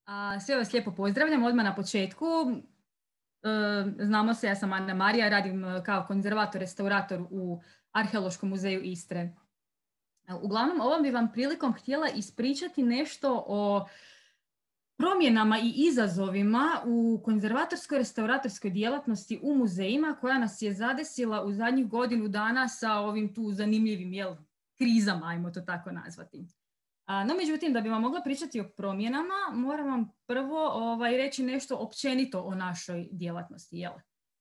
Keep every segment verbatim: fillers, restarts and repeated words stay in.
A, sve vas lijepo pozdravljam odmah na početku. E, znamo se, ja sam Ana Marija, radim kao konzervator-restaurator u Arheološkom muzeju Istre. Uglavnom, ovom bi vam prilikom htjela ispričati nešto o promjenama i izazovima u konzervatorsko-restauratorskoj djelatnosti u muzejima koja nas je zadesila u zadnjih godinu dana sa ovim tu zanimljivim jel, krizama, ajmo to tako nazvati. A, no, međutim, da bi vam mogla pričati o promjenama, moram vam prvo ovaj, reći nešto općenito o našoj djelatnosti. Jel?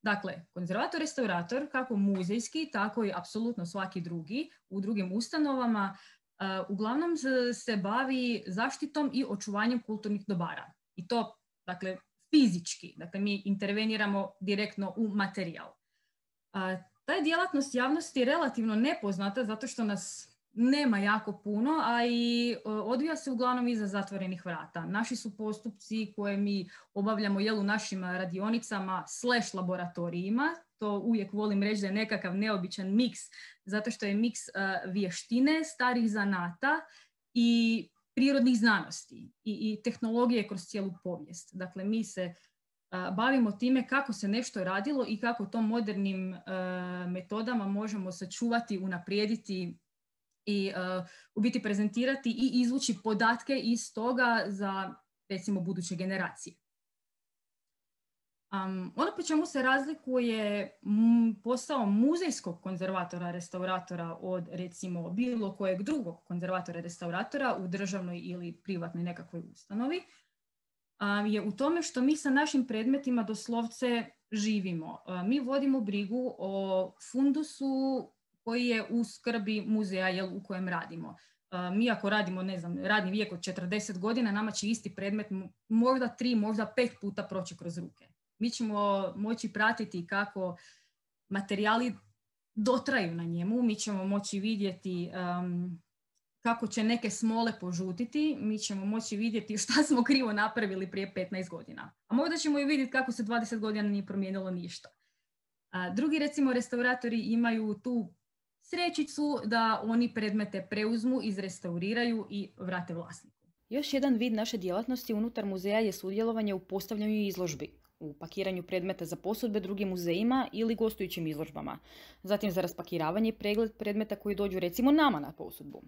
Dakle, konzervator-restaurator, kako muzejski, tako i apsolutno svaki drugi, u drugim ustanovama, uh, uglavnom se bavi zaštitom i očuvanjem kulturnih dobara. I to, dakle, fizički. Dakle, mi interveniramo direktno u materijal. Uh, ta je djelatnost javnosti je relativno nepoznata zato što nas nema jako puno, a i odvija se uglavnom iza zatvorenih vrata. Naši su postupci koje mi obavljamo jel, u našim radionicama slash laboratorijima. To uvijek volim reći da je nekakav neobičan miks, zato što je miks uh, vještine, starih zanata i prirodnih znanosti i, i tehnologije kroz cijelu povijest. Dakle, mi se uh, bavimo time kako se nešto radilo i kako to modernim uh, metodama možemo sačuvati, unaprijediti i uh, u biti prezentirati i izvući podatke iz toga za, recimo, buduće generacije. Um, ono po čemu se razlikuje m, posao muzejskog konzervatora, restauratora od, recimo, bilo kojeg drugog konzervatora, restauratora u državnoj ili privatnoj nekakvoj ustanovi, um, je u tome što mi sa našim predmetima doslovce živimo. Uh, mi vodimo brigu o fundusu koji je u skrbi muzeja jel, u kojem radimo. Uh, mi ako radimo, ne znam, radni vijek od četrdeset godina, nama će isti predmet možda tri, možda pet puta proći kroz ruke. Mi ćemo moći pratiti kako materijali dotraju na njemu, mi ćemo moći vidjeti um, kako će neke smole požutiti, mi ćemo moći vidjeti šta smo krivo napravili prije petnaest godina. A možda ćemo i vidjeti kako se dvadeset godina nije promijenilo ništa. Uh, drugi, recimo, restauratori imaju tu srećicu da oni predmete preuzmu, izrestauriraju i vrate vlasniku. Još jedan vid naše djelatnosti unutar muzeja je sudjelovanje u postavljanju izložbi, u pakiranju predmeta za posudbe drugim muzejima ili gostujućim izložbama, zatim za raspakiravanje i pregled predmeta koji dođu recimo nama na posudbu.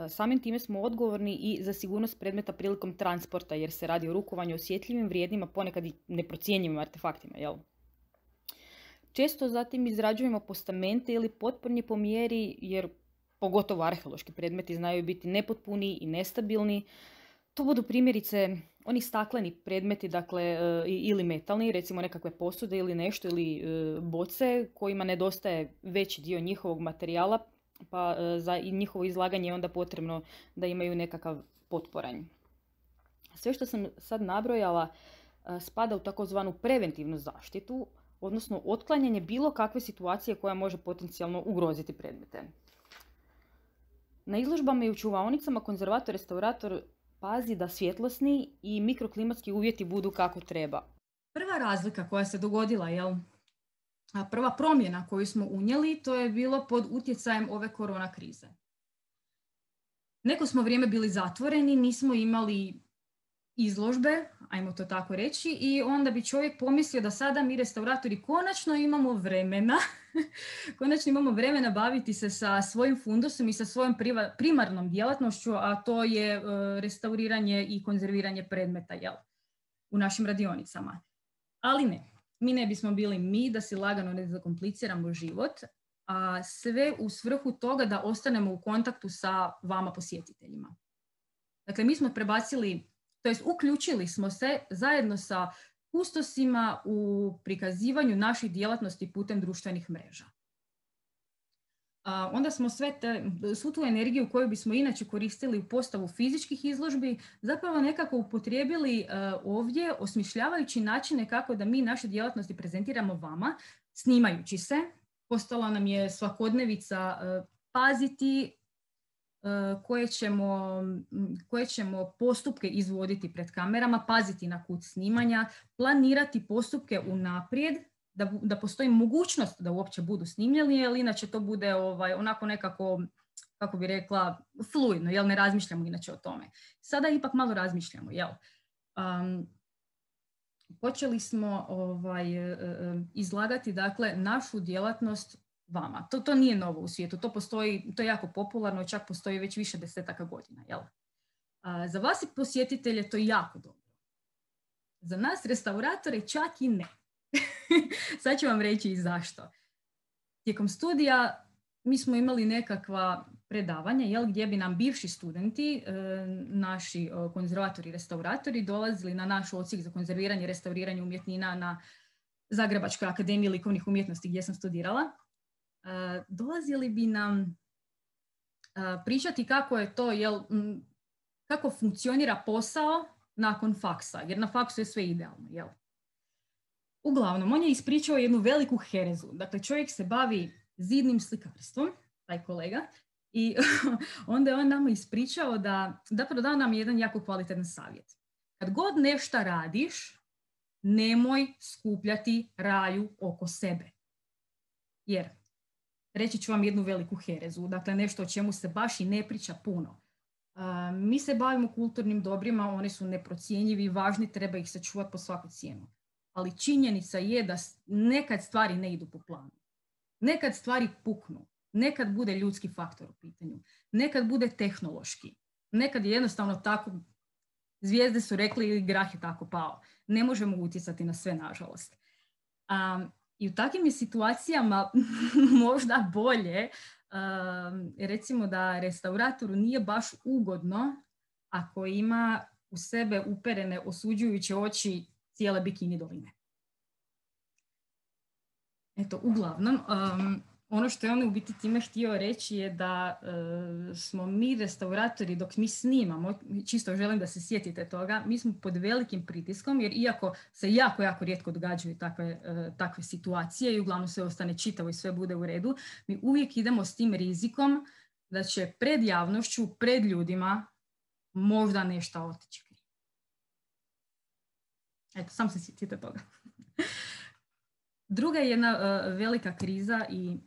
Samim time smo odgovorni i za sigurnost predmeta prilikom transporta jer se radi o rukovanju osjetljivim, vrijednima, ponekad i neprocjenjivim artefaktima, jel? Često zatim izrađujemo postamente ili potpornje po mjeri, jer pogotovo arheološki predmeti znaju biti nepotpuni i nestabilni. To budu primjerice oni stakleni predmeti, dakle, ili metalni, recimo nekakve posude ili nešto, ili boce kojima nedostaje veći dio njihovog materijala, pa za njihovo izlaganje je onda potrebno da imaju nekakav potporanj. Sve što sam sad nabrojala spada u takozvanu preventivnu zaštitu, odnosno otklanjanje bilo kakve situacije koja može potencijalno ugroziti predmete. Na izložbama i u čuvaonicama konzervator-restaurator pazi da svjetlosni i mikroklimatski uvjeti budu kako treba. Prva razlika koja se dogodila, jel? A prva promjena koju smo unijeli, to je bilo pod utjecajem ove korona krize. Neko smo vrijeme bili zatvoreni, nismo imali izložbe, ajmo to tako reći, i onda bi čovjek pomislio da sada mi restauratori konačno imamo vremena, konačno imamo vremena baviti se sa svojim fundusom i sa svojom primarnom djelatnošću, a to je uh, restauriranje i konzerviranje predmeta jel, u našim radionicama. Ali ne, mi ne bismo bili mi da si lagano ne zakompliciramo život, a sve u svrhu toga da ostanemo u kontaktu sa vama posjetiteljima. Dakle, mi smo prebacili to jest uključili smo se zajedno sa kustosima u prikazivanju naših djelatnosti putem društvenih mreža. A, onda smo sve te, svu tu energiju koju bismo inače koristili u postavu fizičkih izložbi zapravo nekako upotrijebili uh, ovdje, osmišljavajući načine kako da mi naše djelatnosti prezentiramo vama, snimajući se. Postala nam je svakodnevica uh, paziti Koje ćemo, koje ćemo postupke izvoditi pred kamerama, paziti na kut snimanja, planirati postupke unaprijed, da, da postoji mogućnost da uopće budu snimljeni, jer inače to bude ovaj, onako nekako, kako bi rekla, fluidno, jel ne razmišljamo inače o tome. Sada ipak malo razmišljamo, jel? Um, počeli smo ovaj, izlagati dakle, našu djelatnost vama. To, to nije novo u svijetu, to postoji, to je jako popularno, čak postoji već više desetaka godina. Jel? A, za vas i posjetitelje to je jako dobro. Za nas restauratore čak i ne. Sad ću vam reći i zašto. Tijekom studija mi smo imali nekakva predavanja, jel, gdje bi nam bivši studenti, e, naši e, konzervatori i restauratori dolazili na naš odsjek za konzerviranje i restauriranje umjetnina na Zagrebačkoj akademiji likovnih umjetnosti gdje sam studirala. E, dolazili bi nam e, pričati kako je to, jel, m, kako funkcionira posao nakon faksa, jer na faksu je sve idealno, jel? Uglavnom, on je ispričao jednu veliku herezu. Dakle, čovjek se bavi zidnim slikarstvom, taj kolega, i onda je on nama ispričao da, zapravo dao nam jedan jako kvalitetan savjet. Kad god nešto radiš, nemoj skupljati raju oko sebe. Jer, reći ću vam jednu veliku herezu, dakle nešto o čemu se baš i ne priča puno. Uh, mi se bavimo kulturnim dobrima, oni su neprocjenjivi, važni, treba ih sačuvati po svaku cijenu. Ali činjenica je da nekad stvari ne idu po planu. Nekad stvari puknu. Nekad bude ljudski faktor u pitanju. Nekad bude tehnološki. Nekad je jednostavno tako, zvijezde su rekli i grah je tako pao. Ne možemo utjecati na sve, nažalost. Um, I u takvim je situacijama možda bolje, um, recimo da restauratoru nije baš ugodno ako ima u sebe uperene osuđujuće oči cijele bikini doline. Eto, uglavnom, um, ono što je on u biti time htio reći je da uh, smo mi restauratori dok mi snimamo, čisto želim da se sjetite toga, mi smo pod velikim pritiskom jer iako se jako, jako rijetko događaju takve, uh, takve situacije i uglavnom sve ostane čitavo i sve bude u redu, mi uvijek idemo s tim rizikom da će pred javnošću, pred ljudima možda nešto otići. Eto, sam se sjetite toga. Druga je jedna uh, velika kriza i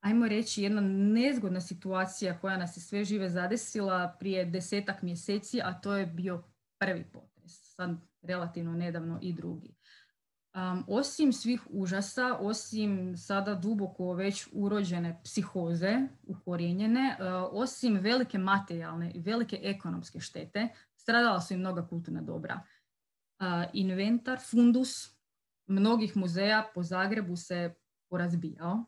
ajmo reći jedna nezgodna situacija koja nas je sve žive zadesila prije desetak mjeseci, a to je bio prvi potres, sad relativno nedavno i drugi. Um, osim svih užasa, osim sada duboko već urođene psihoze, ukorijenjene, uh, osim velike materijalne i velike ekonomske štete, stradala su i mnoga kulturna dobra. Uh, inventar, fundus mnogih muzeja po Zagrebu se porazbijao.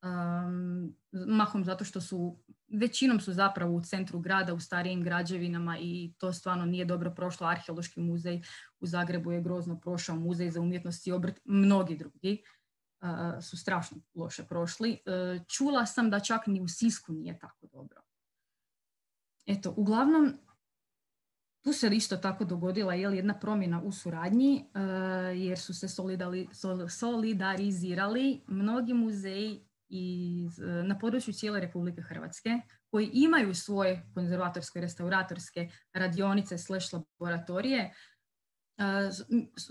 Um, mahom zato što su, većinom su zapravo u centru grada, u starijim građevinama i to stvarno nije dobro prošlo. Arheološki muzej u Zagrebu je grozno prošao, muzej za umjetnost i obrt, mnogi drugi uh, su strašno loše prošli. Uh, čula sam da čak ni u Sisku nije tako dobro. Eto, uglavnom, tu se isto tako dogodila jel, jedna promjena u suradnji, uh, jer su se solidali, sol, solidarizirali mnogi muzeji iz, uh, na području cijele Republike Hrvatske, koji imaju svoje konzervatorske, restauratorske radionice slash laboratorije. Uh,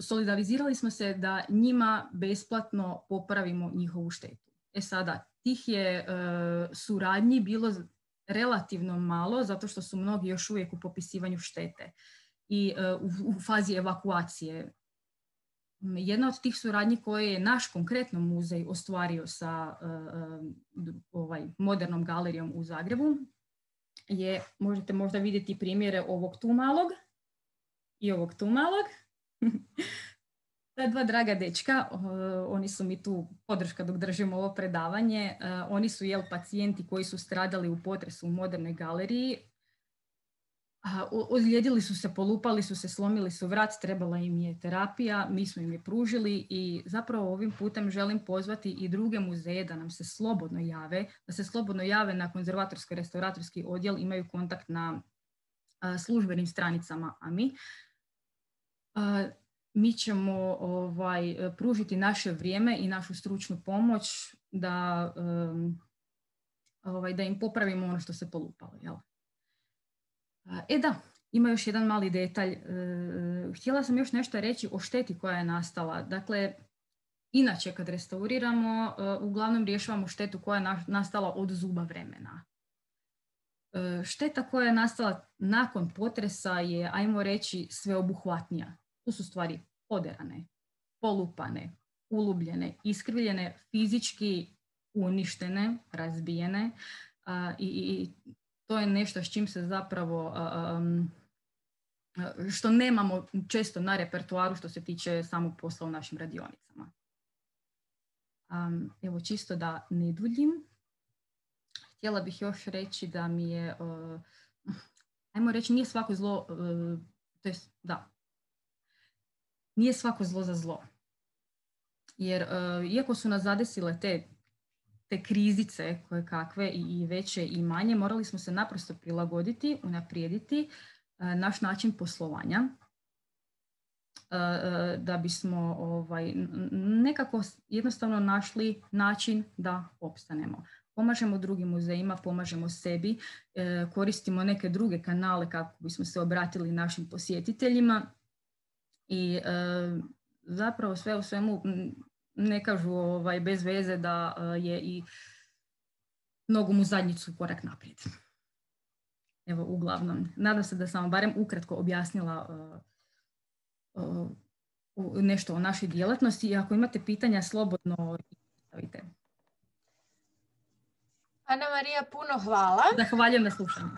solidarizirali smo se da njima besplatno popravimo njihovu štetu. E sada, tih je uh, suradnji bilo relativno malo, zato što su mnogi još uvijek u popisivanju štete i uh, u, u fazi evakuacije. Jedna od tih suradnji koje je naš konkretno muzej ostvario sa uh, ovaj, modernom galerijom u Zagrebu je, možete možda vidjeti primjere ovog tu malog i ovog tu malog. Ta dva draga dečka, uh, oni su mi tu podrška dok držimo ovo predavanje. Uh, oni su jel pacijenti koji su stradali u potresu u modernoj galeriji. Uh, ozlijedili su se, polupali su se, slomili su vrat, trebala im je terapija, mi smo im je pružili i zapravo ovim putem želim pozvati i druge muzeje da nam se slobodno jave, da se slobodno jave na konzervatorsko-restauratorski odjel, imaju kontakt na uh, službenim stranicama A M I. Uh, Mi ćemo ovaj, pružiti naše vrijeme i našu stručnu pomoć da, um, ovaj, da im popravimo ono što se polupalo. Jel? E da, ima još jedan mali detalj. E, htjela sam još nešto reći o šteti koja je nastala. Dakle, inače kad restauriramo, e, uglavnom rješavamo štetu koja je na, nastala od zuba vremena. šteta koja je nastala nakon potresa je, ajmo reći, sveobuhvatnija. Tu su stvari poderane, polupane, ulubljene, iskrivljene, fizički uništene, razbijene uh, i, i to je nešto s čim se zapravo, um, što nemamo često na repertoaru što se tiče samog posla u našim radionicama. Um, evo, čisto da ne duljim. Htjela bih još reći da mi je, uh, ajmo reći, nije svako zlo, uh, to jest, da, nije svako zlo za zlo. Jer uh, iako su nas zadesile te, te krizice koje kakve i, i veće i manje, morali smo se naprosto prilagoditi, unaprijediti uh, naš način poslovanja uh, uh, da bismo ovaj, nekako jednostavno našli način da opstanemo. Pomažemo drugim muzejima, pomažemo sebi, uh, koristimo neke druge kanale kako bismo se obratili našim posjetiteljima i uh, zapravo sve u svemu ne kažu ovaj, bez veze da uh, je i nogom u zadnjicu korak naprijed. Evo, uglavnom, nadam se da sam vam barem ukratko objasnila uh, uh, nešto o našoj djelatnosti i ako imate pitanja, slobodno stavite. Ana Marija, puno hvala. Zahvaljujem na slušanju.